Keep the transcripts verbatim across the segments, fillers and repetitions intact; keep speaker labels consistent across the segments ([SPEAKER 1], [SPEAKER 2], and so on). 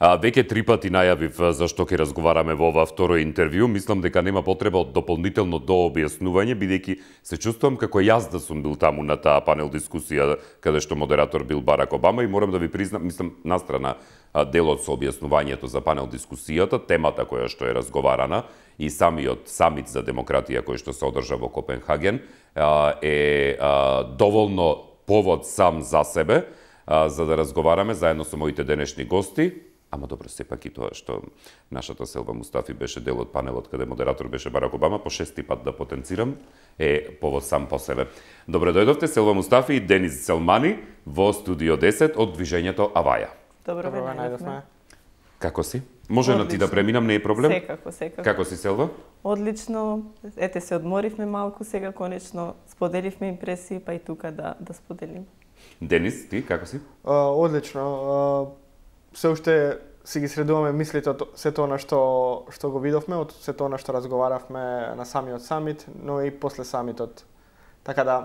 [SPEAKER 1] А, веќе три пати најавив зашто ќе разговараме во ова второ интервју. Мислам дека нема потреба од дополнително дообјаснување, бидејќи се чувствувам како јас да сум бил таму на таа панел дискусија каде што модератор бил Барак Обама и морам да ви признам, мислам, настрана делот со објаснувањето за панел дискусијата, темата која што е разговарана и самиот самит за демократија кој што се одржа во Копенхаген е доволно повод сам за себе за да разговараме заедно со моите денешни гости. Ама добро, сепак и тоа што нашата Селва Мустафи беше дел од панелот каде модератор беше Барак Обама, по шести пат да потенцирам, е повод сам по себе. Добре дојдовте Селва Мустафи и Денис Селмани во студио десет од движењето Аваја.
[SPEAKER 2] Добро ве најдовме.
[SPEAKER 1] Како си? Може на ти да преминам, не е проблем?
[SPEAKER 2] Секако, секако.
[SPEAKER 1] Како си, Селва?
[SPEAKER 2] Одлично. Ете се одморивме малку, сега конечно споделивме импресии, па и тука да да споделим.
[SPEAKER 1] Денис, ти како си?
[SPEAKER 3] Uh, одлично. Uh, се уште си ги средуваме мислите од сето она што што го видовме, од сето она што разговаравме на самиот самит, но и после самитот. Така да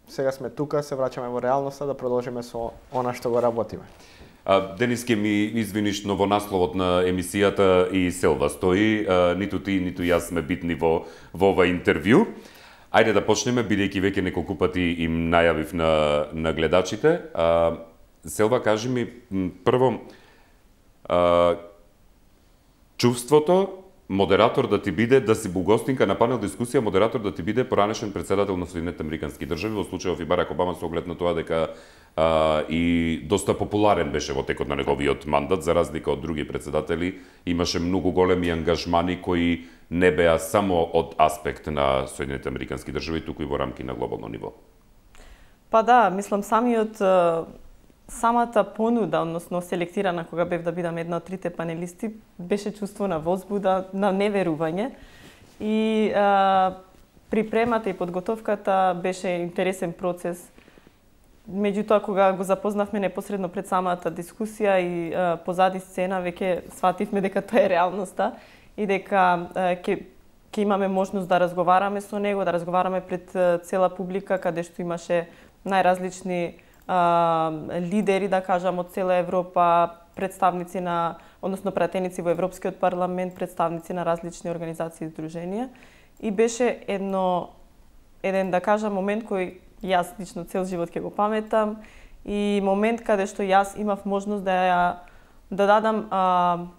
[SPEAKER 3] сега сме тука, се враќаме во реалноста да продолжиме со она што го работиме.
[SPEAKER 1] А, Денис, ке ми извиниш, но во насловот на емисијата и Селва стои, а, ниту ти, ниту јас сме битни во во ова интервју. Ајде да почнеме, бидејќи веќе неколку пати им најавив на на гледачите. А, Селва, кажи ми прво, Uh, чувството модератор да ти биде, да си бугостинка на панел дискусија, модератор да ти биде поранешен председател на Соединетите Американски држави, во случајов и Барак Обама со оглед на тоа дека uh, и доста популарен беше во текот на неговиот мандат, за разлика од други председатели, имаше многу големи ангажмани кои не беа само од аспект на Соединетите Американски држави, туку и во рамки на глобално ниво.
[SPEAKER 2] Па да, мислам самиот самата понуда, односно селектирана кога бев да бидам една од трите панелисти, беше чувство на возбуда, на неверување и а, припремата и подготовката беше интересен процес. Меѓутоа, кога го запознавме непосредно пред самата дискусија и а, позади сцена, веќе свативме дека тоа е реалноста и дека ќе ќе имаме можност да разговараме со него, да разговараме пред цела публика, каде што имаше најразлични Uh, лидери, да кажам, од цела Европа, представници на, односно пратеници во Европскиот парламент, представници на различни организации и здруженија. И беше едно, еден, да кажам, момент кој јас лично цел живот ќе го паметам и момент каде што јас имав можност да ја да дадам uh,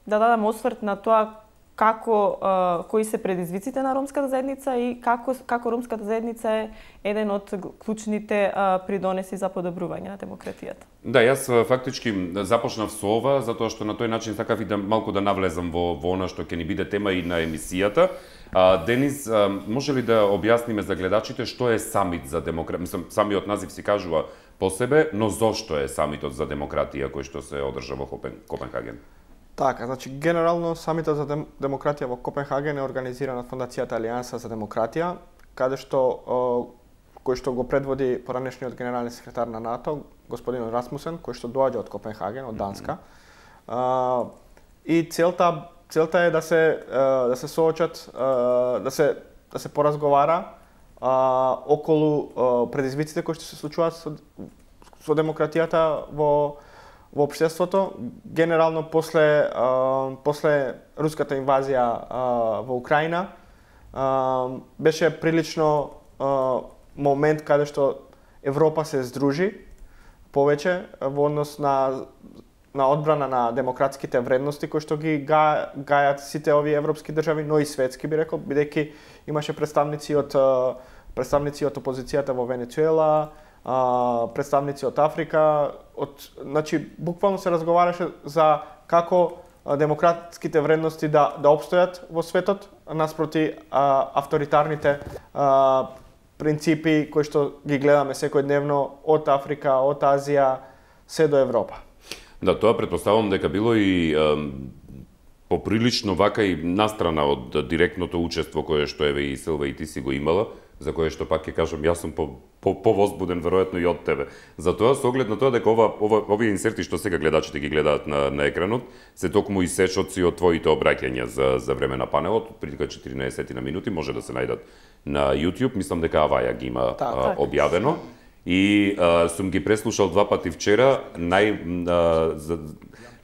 [SPEAKER 2] да дадам осврт на тоа како uh, кои се предизвиците на ромската заедница и како како ромската заедница е еден од клучните uh, придонеси за подобрување на демократијата.
[SPEAKER 1] Да, јас фактички започнав со ова затоа што на тој начин сакав и да малку да навлезам во во она што ќе ни биде тема и на емисијата. А, Денис, а, може ли да објасниме за гледачите што е самит за демократија? Мислам, самиот назив си кажува по себе, но зошто е самитот за демократија кој што се одржа во Копенхаген?
[SPEAKER 3] Така, значи генерално самитот за дем, демократија во Копенхаген е организиран од Фондацијата Алијанса за демократија, каде што о, кој што го предводи поранешниот генерален секретар на НАТО, господин Расмусен, кој што доаѓа од Копенхаген, од Данска. Mm-hmm. а, и целта целта е да се да се соочат, да се да се поразговара а, околу а, предизвиците кои што се случуваат со, со демократијата во во општеството, генерално после а, после руската инвазија а, во Украина, а, беше прилично а, момент каде што Европа се здружи повеќе во однос на на одбрана на демократските вредности кои што ги га, гајат сите овие европски држави, но и светски би рекол, бидејќи имаше представници од представници од опозицијата во Венецуела, Uh, представници од Африка, од, значи буквално се разговараше за како uh, демократските вредности да да опстојат во светот наспроти uh, авторитарните uh, принципи кои што ги гледаме секојдневно од Африка, од Азија се до Европа.
[SPEAKER 1] Да, тоа претпоставувам дека било и um... поприлично вака и настрана од директното учество кое што еве и Силва и ти си го имала, за кое што пак ќе кажам јас сум по по повозбуден веројатно и од тебе. Затоа со оглед на тоа дека ова ова овие инсерти што сега гледачите ги гледаат на на екранот се токму исечоци од твоите обраќања за за време на панелот, прилика четирнаесет на минути, може да се најдат на YouTube, мислам дека Аваја ги има
[SPEAKER 2] так,
[SPEAKER 1] а,
[SPEAKER 2] так.
[SPEAKER 1] објавено. И а, сум ги преслушал два пати вчера, нај, а, за,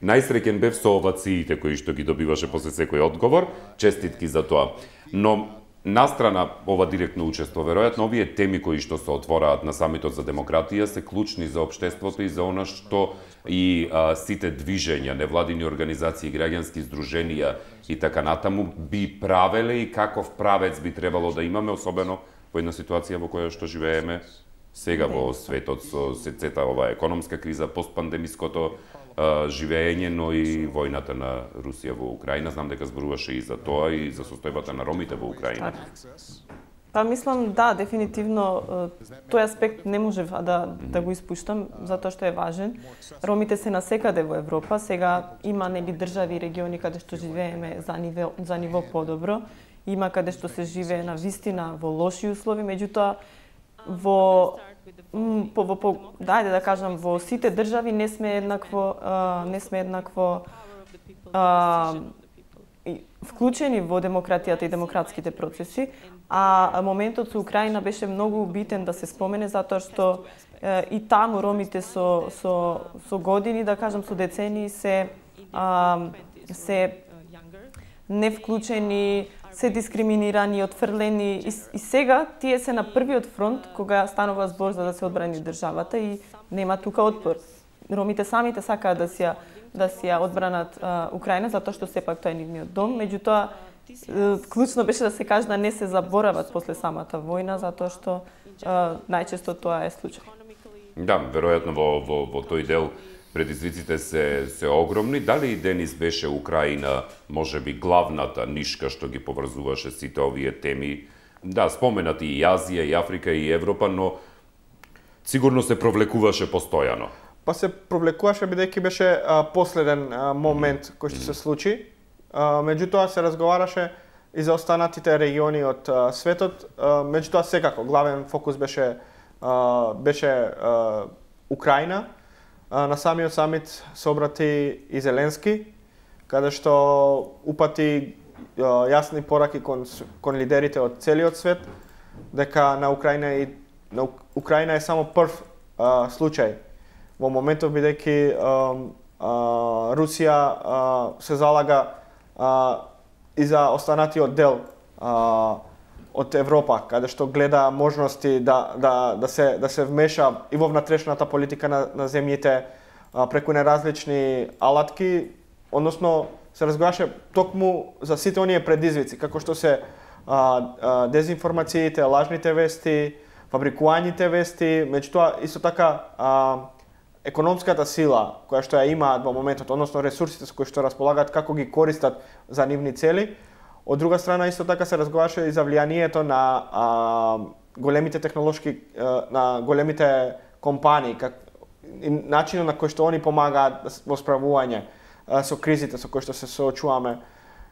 [SPEAKER 1] најсреќен бев со овациите кои што ги добиваше после секој одговор, честитки за тоа. Но настрана ова директно учество, веројатно овие теми кои што се отвораат на самитот за демократија се клучни за општеството и за она што и а, сите движења, невладини организации, граѓански здруженија и така натаму би правеле и каков правец би требало да имаме, особено во една ситуација во која што живееме сега во светот со сецета ова економска криза, постпандемиското а, живење, но и војната на Русија во Украина. Знам дека зборуваше и за тоа и за состојбата на ромите во Украина.
[SPEAKER 2] Па мислам, да, дефинитивно тој аспект не можев да, да го испуштам, затоа што е важен. Ромите се насекаде во Европа, сега има нели држави и региони каде што живееме за ниво, за ниво подобро, има каде што се живее на вистина во лоши услови, меѓутоа во по, во, по, дајде да кажам, во сите држави не сме еднакво а, не сме еднакво а, вклучени во демократијата и демократските процеси, а моментот со Украина беше многу битен да се спомене затоа што е, и таму ромите со со со години, да кажам со децении се а, се не вклучени, се дискриминирани, отфрлени и, и сега тие се на првиот фронт кога станува збор за да се одбрани државата и нема тука отпор. Ромите самите сакаат да си ја да си ја одбранат а, Украина затоа што сепак тоа е нивниот дом, меѓутоа клучно беше да се каже да не се заборават после самата војна затоа што а, најчесто тоа е случај.
[SPEAKER 1] Да, веројатно во во во тој дел предизвиците се се огромни. Дали и денес беше Украина можеби главната нишка што ги поврзуваше сите овие теми? Да, споменати и Азија, и Африка, и Европа, но сигурно се провлекуваше постојано.
[SPEAKER 3] Па се провлекуваше бидејќи беше а, последен а, момент кој што се случи. А, меѓутоа се разговараше и за останатите региони од а, светот. А, меѓутоа секако главен фокус беше а, беше а, Украина. А, на самиот самит се обрати и Зеленски, каде што упати а, јасни пораки кон кон лидерите од целиот свет дека на Украина и на Украина е само прв а, случај во моментов бидејќи Русија а, се залага а, и за останатиот дел а, од Европа, каде што гледа можности да да да се да се вмеша и во внатрешната политика на на земјите а, преку неразлични алатки, односно се разговараше токму за сите оние предизвици, како што се а, а, дезинформациите, лажните вести, фабрикуваните вести, меѓутоа исто така а, економската сила која што ја имаат во моментот, односно ресурсите со кои што располагаат, како ги користат за нивни цели. Од друга страна исто така се разговараше и за влијанието на а, големите технолошки а, на големите компании, как и начинот на кој што они помагаат во справување а, со кризите со кои што се соочуваме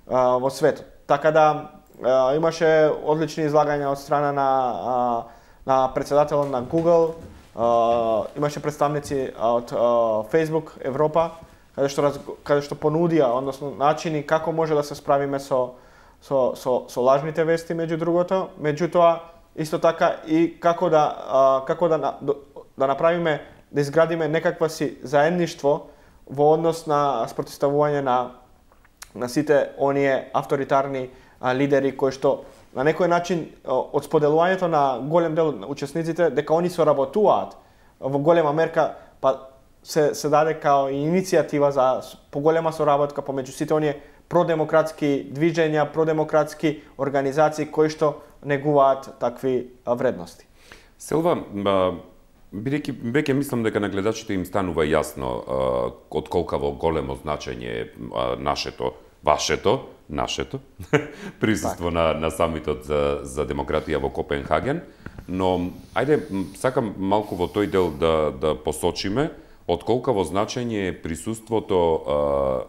[SPEAKER 3] а, во светот. Така да а, имаше одлични излагања од страна на а, на претседателот на Google. Uh, имаше представници од uh, Facebook Европа, каде што раз, каде што понудија, односно начини како може да се справиме со со со, со лажните вести меѓу другото, меѓутоа исто така и како да uh, како да да направиме да изградиме некаква си заедништво во однос на спротивставување на на сите оние авторитарни uh, лидери кои што на некој начин од споделувањето на голем дел на учесниците дека они соработуваат во голема мерка, па се се даде као иницијатива за поголема соработка помеѓу сите оние продемократски движења, продемократски организации кои што негуваат такви вредности.
[SPEAKER 1] Селва, бидејќи веќе мислам дека на гледачите им станува јасно од колкаво големо значење нашето, вашето, нашето присуство на на самитот за за демократија во Копенхаген, но ајде сакам малку во тој дел да да посочиме од колкаво значење е присуството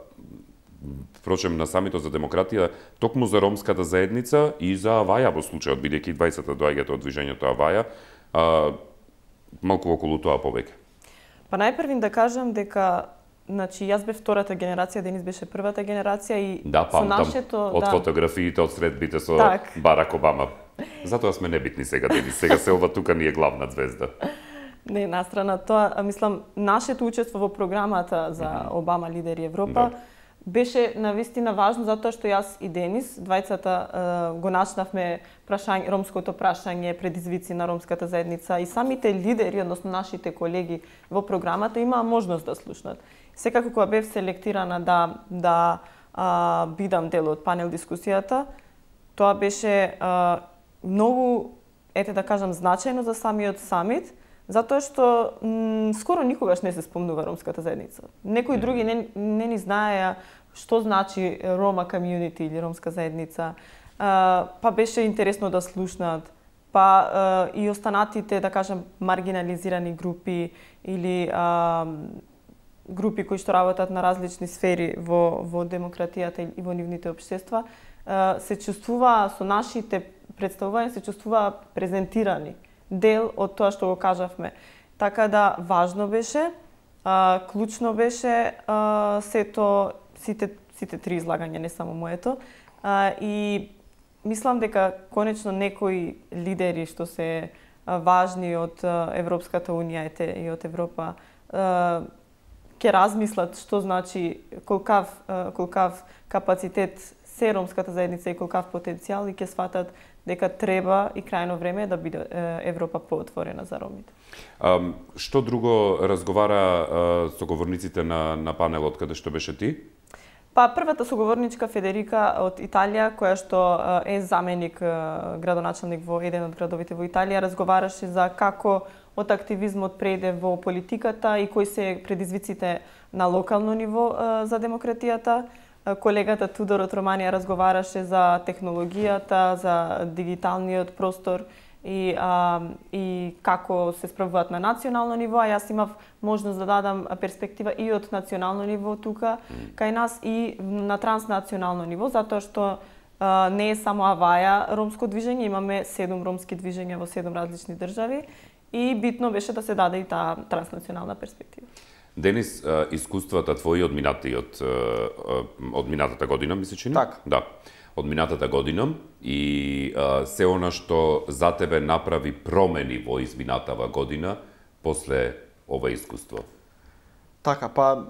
[SPEAKER 1] впрочем на самитот за демократија токму за ромската заедница и за Аваја во случајот, бидејќи дваесет доаѓате од движењето Аваја, а, малку околу тоа повеќе.
[SPEAKER 2] Па најпрвин да кажам дека значи јас бев втората генерација, Денис беше првата генерација и
[SPEAKER 1] да,
[SPEAKER 2] со нашето
[SPEAKER 1] од
[SPEAKER 2] да,
[SPEAKER 1] фотографиите, од средбите со
[SPEAKER 2] так.
[SPEAKER 1] Барак Обама. Затоа сме небитни сега, Денис. Сега Селва тука ни е главна звезда.
[SPEAKER 2] Не, настрана тоа, мислам, нашето учество во програмата за Обама лидери Европа
[SPEAKER 1] Да.
[SPEAKER 2] беше навистина важно затоа што јас и Денис, двајцата го начнавме прашање, ромското прашање, предизвици на ромската заедница и самите лидери, односно нашите колеги во програмата имаа можност да слушнат. Секако кога бев селектирана да да а, бидам дел од панел дискусијата, тоа беше а, многу, ете да кажам, значајно за самиот самит, затоа што м, скоро никогаш не се спомнува ромската заедница. Некои други не, не ни знаеа што значи Рома комјунити или ромска заедница. А, па беше интересно да слушнат, па а, и останатите, да кажам, маргинализирани групи или а, групи кои што работат на различни сфери во, во демократијата и во нивните општества, а, се чувствува со нашите представувања, се чувствува презентирани, дел од тоа што го кажавме. Така да важно беше, а, клучно беше а, сето, сите, сите три излагања, не само моето. А, и мислам дека конечно некои лидери што се а, важни од а, Европската унија ете, и од Европа а, ќе размислат што значи колкав, а, колкав капацитет се ромската заедница и колкав потенцијал и ќе сватат дека треба и крајно време да биде Европа поотворена за ромите.
[SPEAKER 1] А, што друго разговара а, соговорниците на, на панелот, каде што беше ти?
[SPEAKER 2] Па првата соговорничка Федерика од Италија, која што е заменик градоначалник во еден од градовите во Италија, разговараше за како од активизмот преде во политиката и кои се предизвиците на локално ниво за демократијата. Колегата Тудор од Романија разговараше за технологијата, за дигиталниот простор и, а, и како се справуваат на национално ниво, а јас имав можност да дадам перспектива и од национално ниво тука, кај нас и на транснационално ниво, затоа што а, не е само Аваја ромско движење, имаме седум ромски движења во седум различни држави и битно беше да се даде и таа транснационална перспектива.
[SPEAKER 1] Денис, искуствата твои од минатиот од минатата година, мислиш чини?
[SPEAKER 3] Така.
[SPEAKER 1] Да. Од минатата година и а, се она што за тебе направи промени во изминатава година после ова искуство.
[SPEAKER 3] Така, па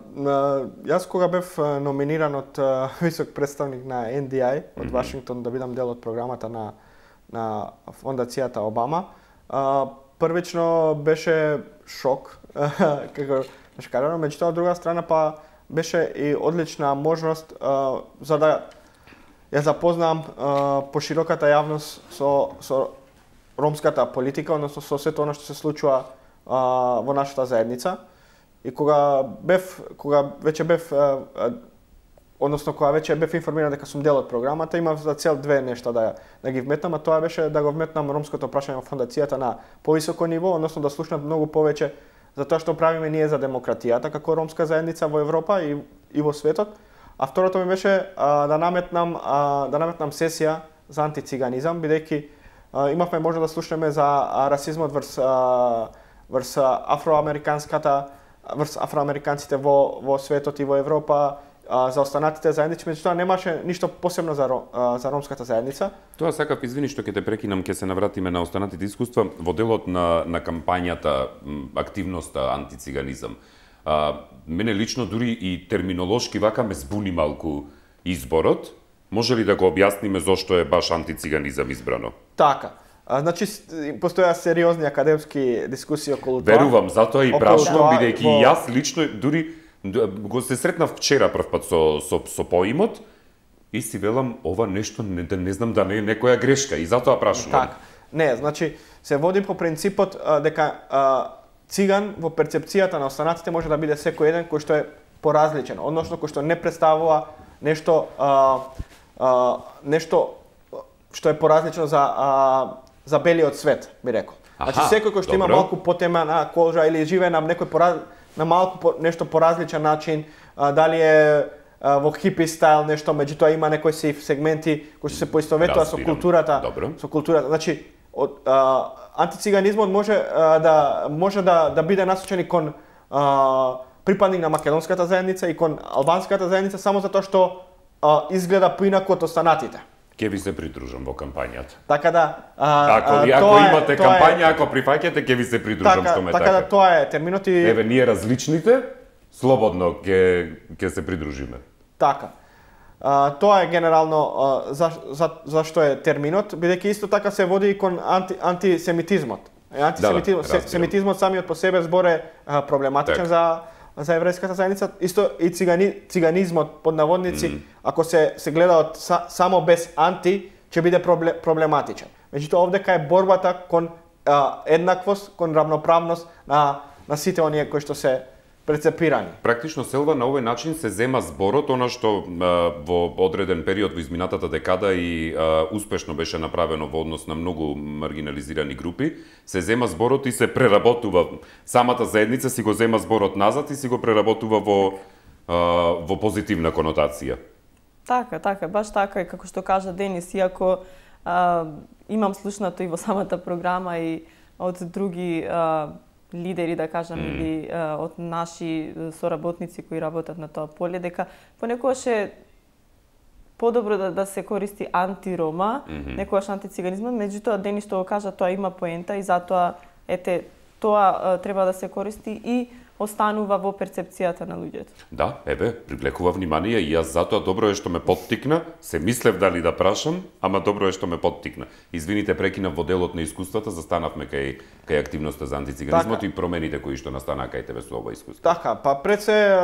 [SPEAKER 3] јас кога бев номиниран од висок представник на Ен Ди Ај од Вашингтон да бидам дел од програмата на на фондацијата Обама, првично беше шок како Беше кажано, меѓутоа, од друга страна, па беше и одлична можност а, за да ја запознам а, пошироката јавност со, со ромската политика, односно со сето она што се случува а, во нашата заедница. И кога бев, кога веќе бев, а, а, односно кога веќе бев информиран дека сум дел од програмата, имав за цел две нешта да, да ги вметнам, а тоа беше да го вметнам ромското прашање во фондацијата на повисоко ниво, односно да слушнат многу повеќе за тоа што правиме ние за демократијата како ромска заедница во Европа и, и во светот. А второто ми беше а, да наметнам а, да наметнам сесија за антициганизам, бидејќи а, имавме можност да слушнеме за а, расизмот врз а, врз афроамериканската врз афроамериканците во во светот и во Европа, а, за останатите заедници, меѓутоа немаше ништо посебно за а, за ромската заедница.
[SPEAKER 1] Тоа сакав, извини што ќе те прекинам, ќе се навратиме на останатите искуства во делот на на кампањата, активноста антициганизам. А, мене лично дури и терминолошки вака ме збуни малку изборот. Може ли да го објасниме зошто е баш антициганизам избрано?
[SPEAKER 3] Така. А, значи постоја сериозни академски дискусии околу тоа.
[SPEAKER 1] Верувам, затоа и прашувам, бидејќи
[SPEAKER 3] во...
[SPEAKER 1] јас лично дури го се сретнав вчера прв пат со со со поимот и си велам ова нешто не, не знам да не е некоја грешка и затоа прашувам.
[SPEAKER 3] Така. Не, значи се води по принципот а, дека а, циган во перцепцијата на останатите може да биде секој еден кој што е поразличен, односно кој што не представува нешто а, а, нешто што е поразлично за а, за белиот свет, би рекол. Значи секој кој што има малку потемена кожа или живее на некој пораз... на малку по... нешто поразличен начин, а, дали е а, во хипи стайл нешто, меѓутоа има некои си сегменти кои што се поистоветува со културата,
[SPEAKER 1] Добро.
[SPEAKER 3] со културата. Значи од а, антициганизмот може а, да може да да биде насочен и кон а, припадник на македонската заедница и кон албанската заедница само затоа што а, изгледа поинаку од останатите.
[SPEAKER 1] Ке ви се придружам во кампањата.
[SPEAKER 3] Така да, а,
[SPEAKER 1] ако,
[SPEAKER 3] а,
[SPEAKER 1] ако
[SPEAKER 3] тоа
[SPEAKER 1] имате
[SPEAKER 3] е, тоа
[SPEAKER 1] кампања,
[SPEAKER 3] е,
[SPEAKER 1] ако прифаќате, ке ви се придружам,
[SPEAKER 3] така,
[SPEAKER 1] што ме
[SPEAKER 3] така.
[SPEAKER 1] така.
[SPEAKER 3] да, тоа е терминот и...
[SPEAKER 1] Еве, ние различните, слободно ке, ке се придружиме.
[SPEAKER 3] Така. А, тоа е генерално а, за, за, зашто е терминот, бидејќи исто така се води и кон анти, антисемитизмот. Е, антисемитизмот,
[SPEAKER 1] да, да,
[SPEAKER 3] се, семитизмот самиот по себе збор е а, проблематичен
[SPEAKER 1] так.
[SPEAKER 3] за за еврејската заедница. Исто и цигани, циганизмот под наводници, mm -hmm. ако се се гледа од са, само без анти, ќе биде проблем, проблематичен. Меѓутоа овдека е борбата кон а, еднаквост, кон равноправност на на сите оние кои што се прецепирани.
[SPEAKER 1] Практично, Селва, на овој начин се зема зборот, она што а, во одреден период во изминатата декада и а, успешно беше направено во однос на многу маргинализирани групи, се зема зборот и се преработува. Самата заедница си го зема зборот назад и си го преработува во, а, во позитивна конотација.
[SPEAKER 2] Така, така, баш така и како што кажа Денис, иако а, имам слушнато и во самата програма и од други а, лидери, да кажам, mm. или а, од наши соработници кои работат на тоа поле, дека понекогаш е подобро да, да се користи антирома, mm -hmm. некогаш антициганизмот, меѓутоа Денис што го кажа, тоа има поента и затоа, ете, тоа а, треба да се користи и останува во перцепцијата на луѓето.
[SPEAKER 1] Да, еве, привлекува внимание и јас затоа добро е што ме поттикна, се мислев дали да прашам, ама добро е што ме поттикна. Извините, прекинав во делот на искуствата, застанавме кај кај активноста за антициганизмот така. И промените кои што настанаа кај тебе со ова искуство.
[SPEAKER 3] Така, па пред се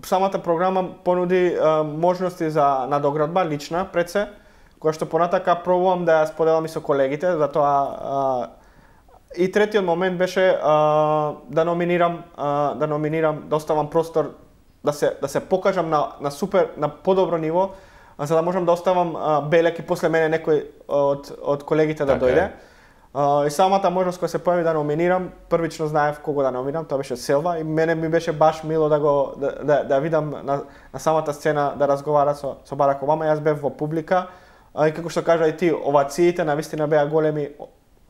[SPEAKER 3] самата програма понуди можности за надоградба лична пред се, која што понатака пробувам да ја споделам и со колегите, затоа и третиот момент беше а, да номинирам, а, да номинирам, да оставам простор да се да се покажам на на супер на подобро ниво, а, за да можам да оставам а, белек и после мене некој од од колегите да
[SPEAKER 1] така
[SPEAKER 3] дојде. А, и самата можност која се појави да номинирам, првично знаев кого да номинирам, тоа беше Селва и мене ми беше баш мило да го да да, да видам на на самата сцена да разговара со со Барак Обама. Јас бев во публика, а, и како што кажа и ти, овациите навистина беа големи.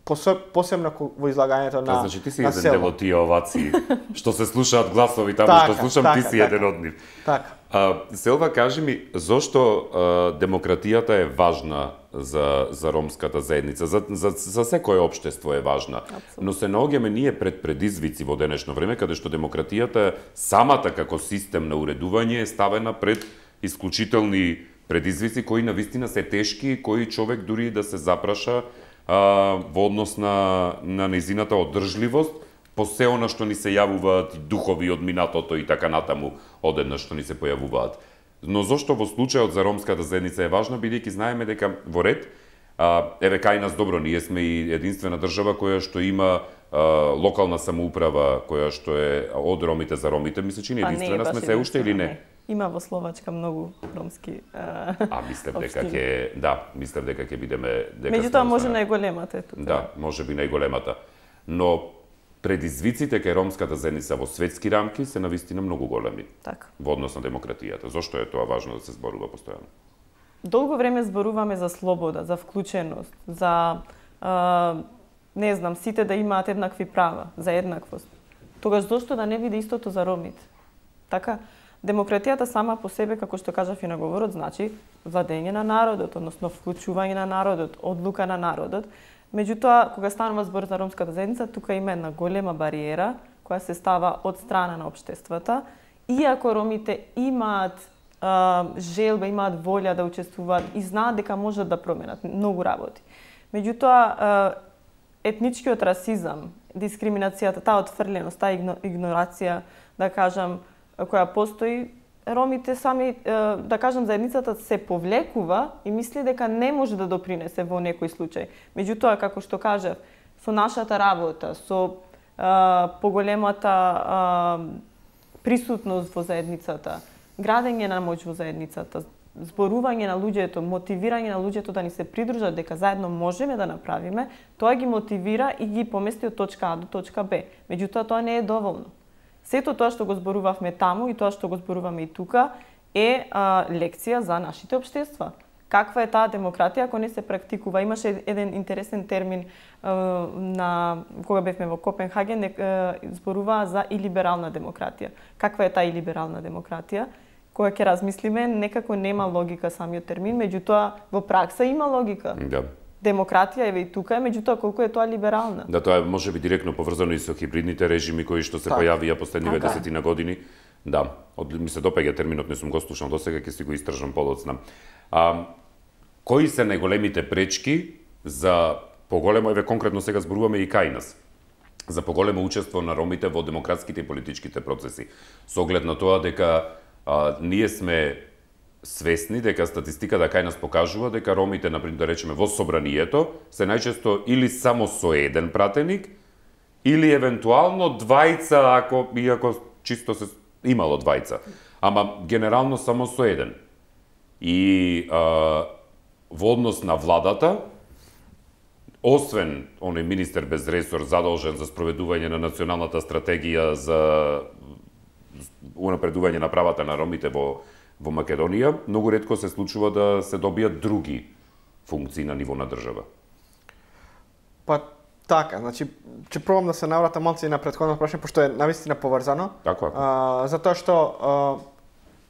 [SPEAKER 3] Посебно во излагањето на
[SPEAKER 1] значи ти си еден дел од тие овации што се слушаат гласови таму
[SPEAKER 3] така,
[SPEAKER 1] што слушам,
[SPEAKER 3] така,
[SPEAKER 1] ти си
[SPEAKER 3] така,
[SPEAKER 1] еден од нив.
[SPEAKER 3] Така.
[SPEAKER 1] А, Селва, кажи ми, зошто а, демократијата е важна за за ромската заедница, за за за секое општество е важна.
[SPEAKER 2] Абсолютно.
[SPEAKER 1] Но се наоѓаме ние пред предизвици во денешно време каде што демократијата самата како систем на уредување е ставена пред исклучителни предизвици кои навистина се тешки и кои човек дури да се запраша во однос на, на незината одржливост, по се она што ни се јавуваат духови од минатото и така натаму одеднаш што ни се појавуваат. Но зошто во случајот за ромската заедница е важна, бидејќи знаеме дека во ред, а, еве кај нас добро, ние сме и единствена држава која што има а, локална самоуправа, која што е од ромите за ромите, ми се чини единствена сме се уште или не?
[SPEAKER 2] Има во Словачка многу ромски а,
[SPEAKER 1] а мислев дека ќе, да, мислев дека ќе бидеме дека
[SPEAKER 2] меѓутоа може најголемата е тука.
[SPEAKER 1] Да, може би најголемата. Но предизвиците кај ромската заедница во светски рамки се навистина многу големи.
[SPEAKER 2] Така.
[SPEAKER 1] Во однос на демократијата. Зошто е тоа важно да се зборува постојано?
[SPEAKER 2] Долго време зборуваме за слобода, за вклученост, за а, не знам, сите да имаат еднакви права, за еднаквост. Тогаш зошто да не биде истото за ромите? Така, демократијата сама по себе, како што кажав и на говорот, значи владење на народот, односно вклучување на народот, одлука на народот. Меѓутоа, кога станува збор за ромската заедница, тука има една голема бариера која се става од страна на општествата. Иако ромите имаат а, желба, имаат волја да учествуваат и знаат дека можат да променат многу работи. Меѓутоа, етничкиот расизам, дискриминацијата, таа отфрленост, таа игнорација, да кажам, која постои, ромите сами, да кажам, заедницата се повлекува и мисли дека не може да допринесе во некој случај. Меѓутоа, како што кажав, со нашата работа, со а, поголемата а, присутност во заедницата, градење на моќ во заедницата, зборување на луѓето, мотивирање на луѓето да ни се придружат дека заедно можеме да направиме, тоа ги мотивира и ги помести од точка А до точка Б. Меѓутоа, тоа не е доволно. Сето тоа што го зборувавме таму и тоа што го зборуваме и тука е а, лекција за нашите општества. Каква е таа демократија ако не се практикува? Имаше еден интересен термин а, на кога бевме во Копенхаген, а, зборуваа за илиберална демократија. Каква е таа илиберална демократија? кога ќе размислиме, некако нема логика самиот термин, меѓутоа во пракса има логика.
[SPEAKER 1] Да.
[SPEAKER 2] Демократија еве и тука е, меѓутоа колку е тоа либерална.
[SPEAKER 1] Да, тоа е може би директно поврзано и со хибридните режими кои што се
[SPEAKER 3] так.
[SPEAKER 1] појавија последниве
[SPEAKER 2] Така.
[SPEAKER 1] десетина години. Да, од, ми се допаѓа терминот, не сум го слушнал досега, ќе си го истражам подоцна. А, кои се најголемите пречки за поголемо, еве конкретно сега зборуваме и кај нас, за поголемо учество на ромите во демократските и политичките процеси, со оглед на тоа дека а, ние сме свесни дека статистиката кај нас покажува дека ромите, например, да речеме во собранието, се најчесто или само со еден пратеник, или евентуално двајца, ако иако чисто се имало двајца, ама генерално само со еден. И а, во однос на владата, освен оној министер без ресор задолжен за спроведување на националната стратегија за унапредување на правата на ромите во во Македонија, многу ретко се случува да се добијат други функции на ниво на држава.
[SPEAKER 3] Па така, значи ќе пробам да се навратам малку и на претходното прашање, пошто е навистина поврзано.
[SPEAKER 1] Така,
[SPEAKER 3] а, затоа што а,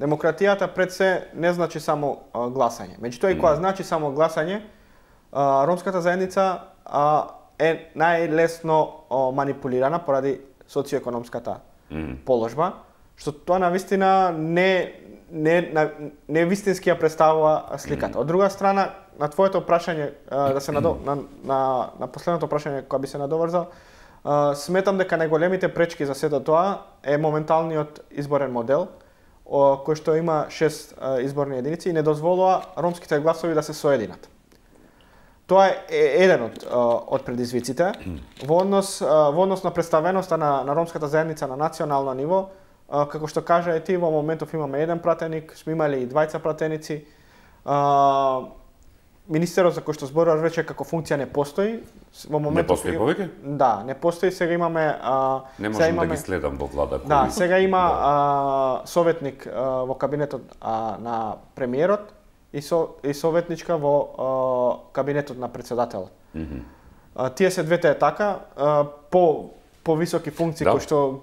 [SPEAKER 3] демократијата пред се не значи само а, гласање. Меѓутоа и кога значи само гласање, а, ромската заедница а, е најлесно а, манипулирана поради социоекономската
[SPEAKER 1] mm.
[SPEAKER 3] положба, што тоа навистина не не на не вистински ја представува сликата.
[SPEAKER 1] Mm.
[SPEAKER 3] Од друга страна, на твоето прашање а, да се надо, на, на на последното прашање кога би се надоврзал, а, сметам дека најголемите пречки за сето тоа е моменталниот изборен модел, о, кој што има шест а, изборни единици и не дозволува ромските гласови да се соединат. Тоа е еден од од предизвиците во однос во однос на представеноста на на ромската заедница на национално ниво. Како што кажа и ти, во моментов имаме еден пратеник, сме имали и двајца пратеници. А, министерот за кој што зборуваш веќе како функција не постои. Во моментов
[SPEAKER 1] не постои повеќе?
[SPEAKER 3] Да, не постои. Сега имаме а,
[SPEAKER 1] не можам
[SPEAKER 3] имаме,
[SPEAKER 1] да ги следам во влада.
[SPEAKER 3] Да,
[SPEAKER 1] кој...
[SPEAKER 3] сега има
[SPEAKER 1] да.
[SPEAKER 3] а, советник а, во кабинетот а, на премиерот и со и советничка во а, кабинетот на председателот.
[SPEAKER 1] Mm -hmm.
[SPEAKER 3] а, тие се двете е така, а, по повисоки функции
[SPEAKER 1] да.
[SPEAKER 3] кои што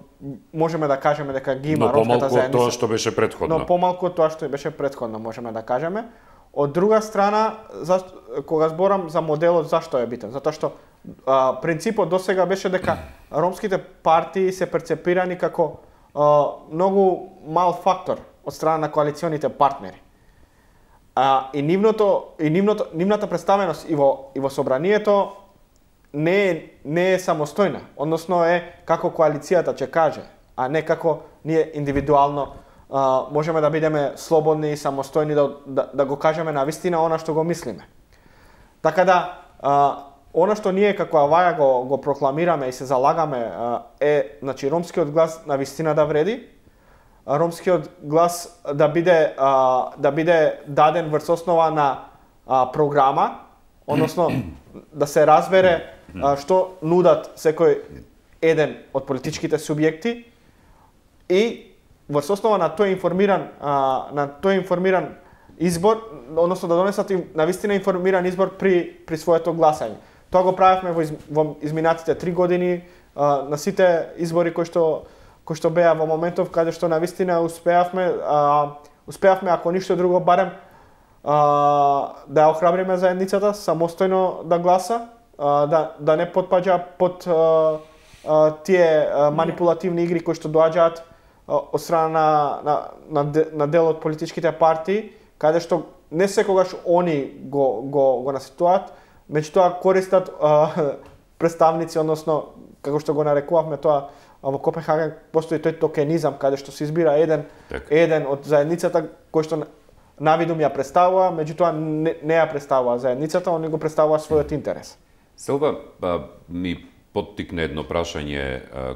[SPEAKER 3] можеме да кажеме дека ги има
[SPEAKER 1] но
[SPEAKER 3] ромската заедница.
[SPEAKER 1] Но помалку тоа што беше претходно.
[SPEAKER 3] Но помалку тоа што беше претходно, можеме да кажеме. Од друга страна, зашто, кога зборам за моделот, зашто е битен? Затоа што а, принципот досега беше дека ромските партии се перцепирани како а, многу мал фактор од страна на коалиционите партнери. А, и нивното и нивното нивната представеност и во и во собранието не е, не е самостојна, односно е како коалицијата ќе каже, а не како ние индивидуално а, можеме да бидеме слободни и самостојни да, да, да го кажеме на вистина она што го мислиме. Така да, а, она што ние како Аваја го, го прокламираме и се залагаме а, е, значи, ромскиот глас на вистина да вреди, ромскиот глас да биде а, да биде даден врз основа на а, програма, односно да се разбере а, што нудат секој еден од политичките субјекти и врз основа на тој информиран а, на тој информиран избор, односно да донесат им навистина информиран избор при при своето гласање. Тоа го правевме во, из, во изминатите три години а, на сите избори кои што кои што беа во моментов каде што навистина успеавме а, успеавме ако ништо друго барем а, да ја охрабриме заедницата самостојно да гласа, а, да да не потпаѓа под а, а, тие а, манипулативни игри кои што доаѓаат од страна на, на, на, на дел од политичките партии, каде што не секогаш они го, го, го наситуваат, меѓутоа користат а, представници, односно, како што го нарекувавме тоа, во Копенхаген постои тој токенизам, каде што се избира еден,
[SPEAKER 1] так.
[SPEAKER 3] еден од заедницата, кој што навидум ја представува, меѓутоа не, не ја представува заедницата, они го представува својот интерес.
[SPEAKER 1] Селва, ба, ми поттикне едно прашање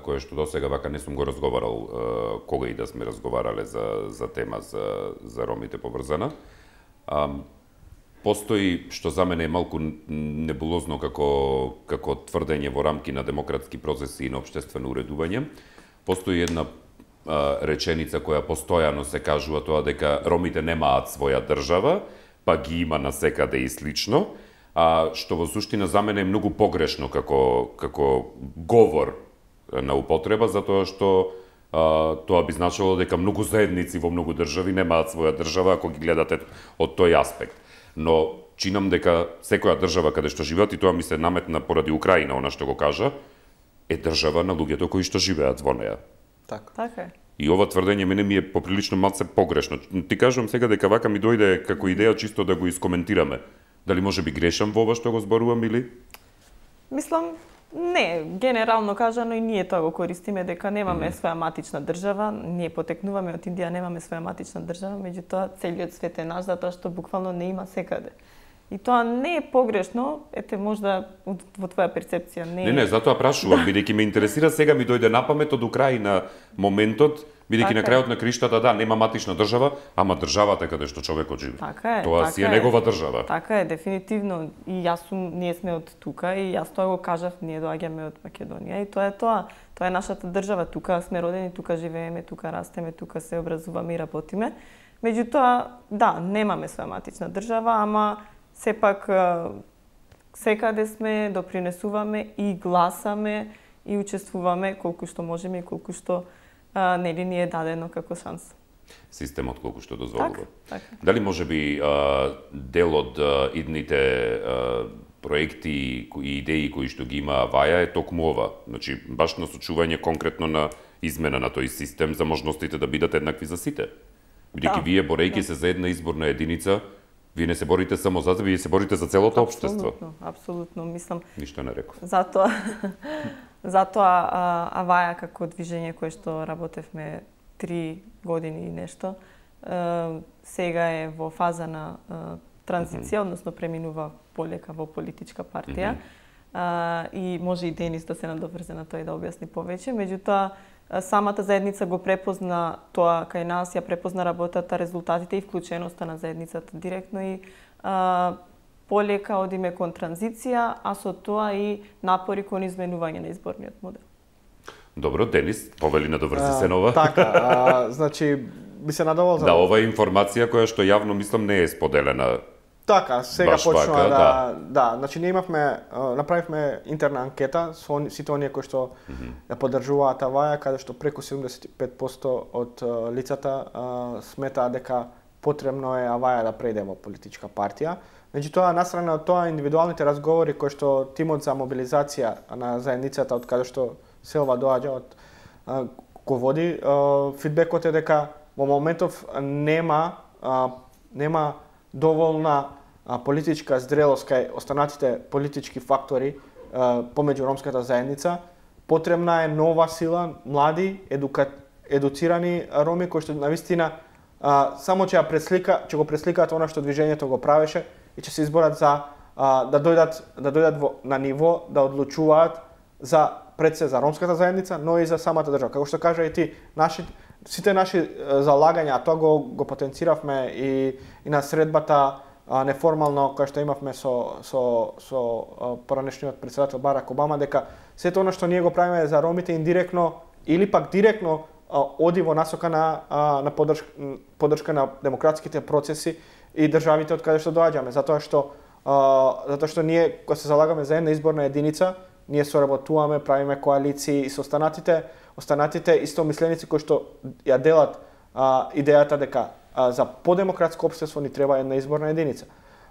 [SPEAKER 1] кое што досега вака не сум го разговарал кога и да сме разговарале за за тема за за ромите поврзана. А, постои што за мене е малку небулозно како како тврдење во рамки на демократски процеси и на општествено уредување. Постои една а, реченица која постојано се кажува тоа дека ромите немаат своја држава, па ги има насекаде и слично. А што во суштина за мене е многу погрешно како како говор на употреба, затоа што а, тоа би значило дека многу заедници во многу држави немаат своја држава ако ги гледате од тој аспект. Но чинам дека секоја држава каде што живеат, и тоа ми се наметна поради Украина, она што го кажа, е држава на луѓето кои што живеат во неа.
[SPEAKER 3] Така.
[SPEAKER 2] Така е.
[SPEAKER 1] И ова тврдење мене ми е поприлично малце погрешно. Ти кажувам сега дека вака ми дојде како идеја чисто да го искоментираме. Дали може би грешам во ова што го зборувам или?
[SPEAKER 2] Мислам, не, генерално кажано и ние тоа го користиме дека немаме mm. своја матична држава, ние потекнуваме од Индија, немаме своја матична држава, меѓутоа целиот свет е наш затоа што буквално не има секаде. И тоа не е погрешно, ете можда во твоја перцепција не е.
[SPEAKER 1] Не, не, затоа прашувам, бидејќи ме интересира, сега ми дојде на памет од Украина моментот, бидејќи на крајот на криштата, да, нема матична држава, ама државата каде што човекот живе.
[SPEAKER 2] Така е.
[SPEAKER 1] Тоа
[SPEAKER 2] така
[SPEAKER 1] си е негова држава.
[SPEAKER 2] Така е, дефинитивно. И јас сум, ние сме од тука и јас тоа го кажав, ние доаѓаме од Македонија и тоа е тоа. Тоа е нашата држава, тука сме родени, тука живееме, тука растеме, тука се образуваме и работиме. Меѓутоа, да, немаме своја матична држава, ама сепак секаде сме, допринесуваме и гласаме и учествуваме колку што можеме и колку што а, нели ни е дадено како шанс.
[SPEAKER 1] Системот колку што дозволува.
[SPEAKER 2] Так, така.
[SPEAKER 1] Дали може би а, дел од а, идните а, проекти и идеи кои што ги има Аваја е токму ова, значи баш насочување конкретно на измена на тој систем за можностите да бидат еднакви за сите. Бидејќи
[SPEAKER 2] Да.
[SPEAKER 1] вие борејќи се за една изборна единица, вие не се борите само за себе, вие се борите за целото општество.
[SPEAKER 2] Апсолутно, апсолутно, мислам.
[SPEAKER 1] Ништо не реков.
[SPEAKER 2] Затоа затоа а, Аваја како движење кое што работевме три години и нешто, а, сега е во фаза на а, транзиција, mm-hmm. односно преминува полека во политичка партија. Mm-hmm. а, и може и Денис да се надоврзе на тоа и да објасни повеќе, меѓутоа самата заедница го препозна тоа кај нас, ја препозна работата, резултатите и вклученоста на заедницата директно и а, полека одиме кон транзиција, а со тоа и напори кон изменување на изборниот модел.
[SPEAKER 1] Добро, Денис, повели надоврзи се нова.
[SPEAKER 3] Така, а, значи би се надовол за
[SPEAKER 1] Да, ова е информација која што јавно мислам не е споделена.
[SPEAKER 3] Така, сега
[SPEAKER 1] Баш
[SPEAKER 3] почнува
[SPEAKER 1] вака,
[SPEAKER 3] да,
[SPEAKER 1] да.
[SPEAKER 3] да, значи ние имавме, а, направивме интерна анкета со они- сите оние кои што
[SPEAKER 1] Мгм.
[SPEAKER 3] ја поддржуваат Аваја, каде што преку седумдесет и пет проценти од а, лицата а, сметаат дека потребно е Аваја да преде во политичка партија. Меѓутоа, настрана од тоа, индивидуалните разговори кои што тимот за мобилизација на заедницата од каде што Селва доаѓа од а, го води, а, фидбекот е дека во моментов нема а, нема доволна а, политичка зрелост кај останатите политички фактори а, помеѓу ромската заедница. Потребна е нова сила, млади, едука, едуцирани роми кои што навистина а, само ќе ја преслика, ќе го пресликаат она што движењето го правеше и ќе се изборат за а, да дојдат да дојдат во, на ниво да одлучуваат за пред се за ромската заедница, но и за самата држава. Како што кажа и ти, наши сите наши е, залагања, а тоа го го потенциравме и и на средбата а, неформално која што имавме со со со а, поранешниот председател Барак Обама, дека сето она што ние го правиме за ромите индиректно или пак директно а, оди во насока на а, на поддршка, поддршка на демократските процеси и државите од каде што доаѓаме, затоа што а, затоа што ние кога се залагаме за една изборна единица, ние соработуваме, правиме коалиции и со останатите, останатите истомисленици кои што ја делат а, идејата дека а, за подемократско општество ни треба една изборна единица.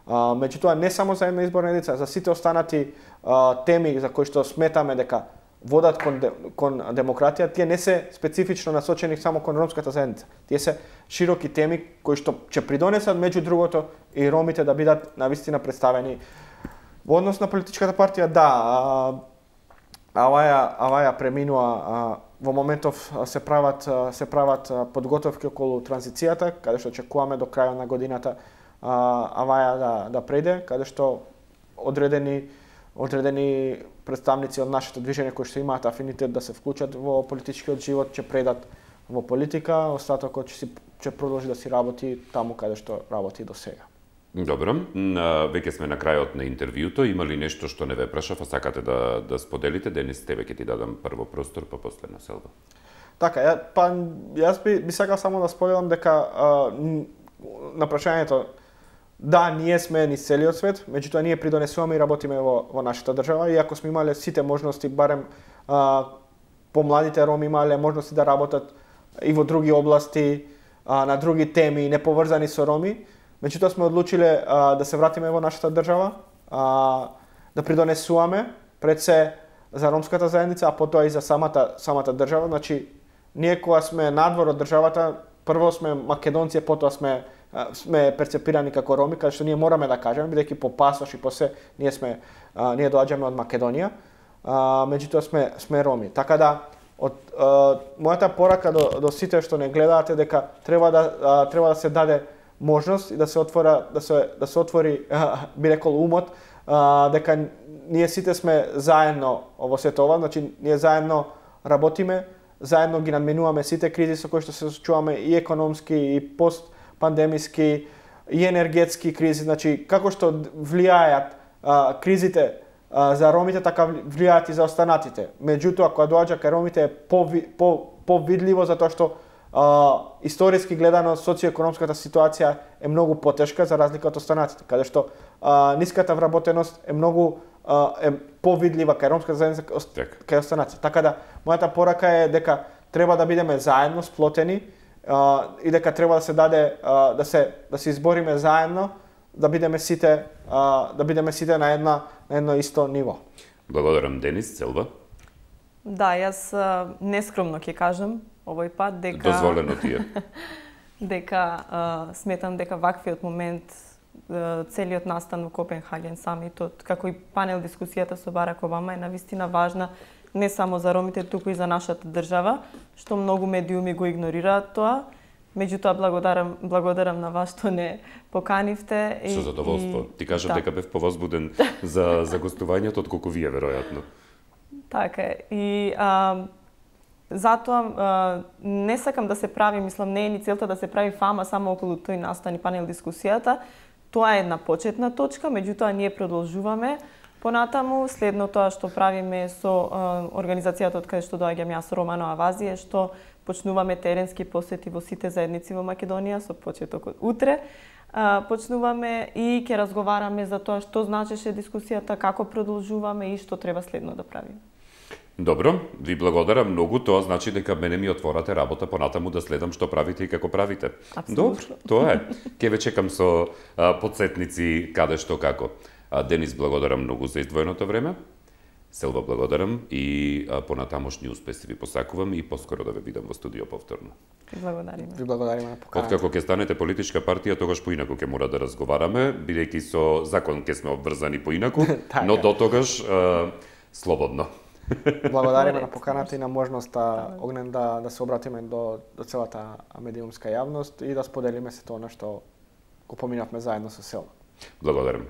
[SPEAKER 3] А, меѓутоа не само за една изборна единица, за сите останати а, теми за кои што сметаме дека водат кон, де, кон демократија, тие не се специфично насочени само кон ромската заедница. Тие се широки теми кои што ќе придонесат меѓу другото и ромите да бидат навистина представени. Во однос на политичката партија, да, а, Аваја, Аваја преминува, а, во моментов се прават се прават подготовки околу транзицијата, каде што очекуваме до крајот на годината а, Аваја да да преде, каде што одредени одредени представници од нашето движење кои што имаат афинитет да се вклучат во политичкиот живот ќе предат во политика, остатокот ќе си ќе продолжи да си работи таму каде што работи до сега.
[SPEAKER 1] Добро, веќе сме на крајот на интервјуто. Има ли нешто што не ве прашав, а сакате да да споделите? Денис, тебе ќе ти дадам прво простор, па после на Селва.
[SPEAKER 3] Така, ја, па јас би, би сакал само да споделам дека а, на прашањето да, ние сме низ целиот свет, меѓутоа ние придонесуваме и работиме во, во нашата држава, иако сме имале сите можности, барем а, помладите роми имале можности да работат и во други области, а, на други теми, неповрзани со роми. Меѓутоа сме одлучиле а, да се вратиме во нашата држава, а, да придонесуваме пред се за ромската заедница, а потоа и за самата самата држава. Значи, ние кога сме надвор од државата, прво сме македонци, потоа сме сме перцепирани како роми, каде што ние мораме да кажеме, бидејќи по пасош и по се ние сме а, ние доаѓаме од Македонија, а, меѓутоа сме сме роми. Така да од а, мојата порака до до сите што не гледаате дека треба да а, треба да се даде можност и да се отвора да се да се отвори а, би рекол умот, а, дека ние сите сме заедно во сето ова, значи ние заедно работиме, заедно ги надменуваме сите кризи со кои што се соочуваме, и економски, и постпандемиски, и енергетски кризи, значи како што влијаат а, кризите а, за ромите, така влијаат и за останатите. Меѓутоа, кога доаѓа кај ромите е повидливо, затоа што а, историски гледано социоекономската ситуација е многу потешка за разлика од останатите, каде што а, ниската вработеност е многу е повидлива кај ромската заедница кај останатите. Така да, мојата порака е дека треба да бидеме заедно сплотени а, и дека треба да се даде а, да се да се избориме заедно, да бидеме сите а, да бидеме сите на една на едно исто ниво.
[SPEAKER 1] Благодарам, Денис. Целва?
[SPEAKER 2] Да, јас а, нескромно ќе кажам овој пат дека
[SPEAKER 1] дозволено ти е.
[SPEAKER 2] дека а, сметам дека ваквиот момент, целиот настан во Копенхаген самитот, како и панел дискусијата со Барак Обама е навистина важна не само за ромите, туку и за нашата држава, што многу медиуми го игнорираат тоа. Меѓутоа благодарам благодарам на вас што не поканивте и
[SPEAKER 1] со задоволство. И... Ти кажав
[SPEAKER 2] да.
[SPEAKER 1] дека бев повозбуден за за гостувањето отколку вие веројатно.
[SPEAKER 2] Така е. И а, затоа а, не сакам да се прави, мислам, не е ни целта да се прави фама само околу тој настан и панел дискусијата. Тоа е една почетна точка, меѓутоа ние продолжуваме понатаму. Следно тоа што правиме со а, организацијата од каде што доаѓам јас, Романо Авази, е што почнуваме теренски посети во сите заедници во Македонија со почеток од утре. А, почнуваме и ќе разговараме за тоа што значеше дискусијата, како продолжуваме и што треба следно да правиме.
[SPEAKER 1] Добро, ви благодарам многу, тоа значи дека мене ми отворате работа понатаму да следам што правите и како правите.
[SPEAKER 2] Абсолютно.
[SPEAKER 1] Добро, тоа е. Ке ве чекам со а, подсетници каде што како. А, Денис, благодарам многу за издвоеното време. Селва, благодарам и а, понатамошни успеси ви посакувам и поскоро да ве видам во студио повторно.
[SPEAKER 2] Ви благодариме.
[SPEAKER 3] Ви благодариме на поканата.
[SPEAKER 1] Откако ќе станете политичка партија, тогаш поинаку ќе мора да разговараме, бидејќи со закон ќе сме обврзани поинаку, но до тогаш а, слободно.
[SPEAKER 3] Благодариме на поканата и на можноста Огнен да да се обратиме до до целата медиумска јавност и да споделиме се тоа што го поминавме заедно со Селва.
[SPEAKER 1] Благодарам.